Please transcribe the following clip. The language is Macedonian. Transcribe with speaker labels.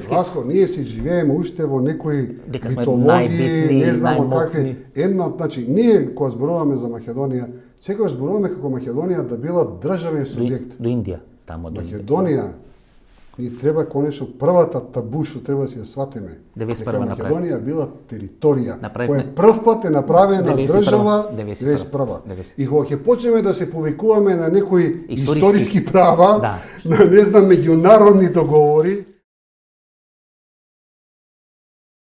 Speaker 1: Васко, ние си живееме уште во некои
Speaker 2: дека сме
Speaker 1: митологии, не знамо
Speaker 2: најмокни.
Speaker 1: какви. Една, значи, ние кога зборуваме за Македонија, секогаш зборуваме како Македонија да била државен субјект.
Speaker 2: До Индија, тамо до
Speaker 1: Македонија, ни треба конечно првата табу што треба да си ја сватиме.
Speaker 2: 91
Speaker 1: Македонија била територија,
Speaker 2: Направивме-
Speaker 1: која прв пат е направена
Speaker 2: 91.
Speaker 1: држава
Speaker 2: 91.
Speaker 1: 91. И кога ќе почнеме да се повикуваме на некои
Speaker 2: Историски
Speaker 1: историски права,
Speaker 2: Да.
Speaker 1: на не знам меѓународни договори,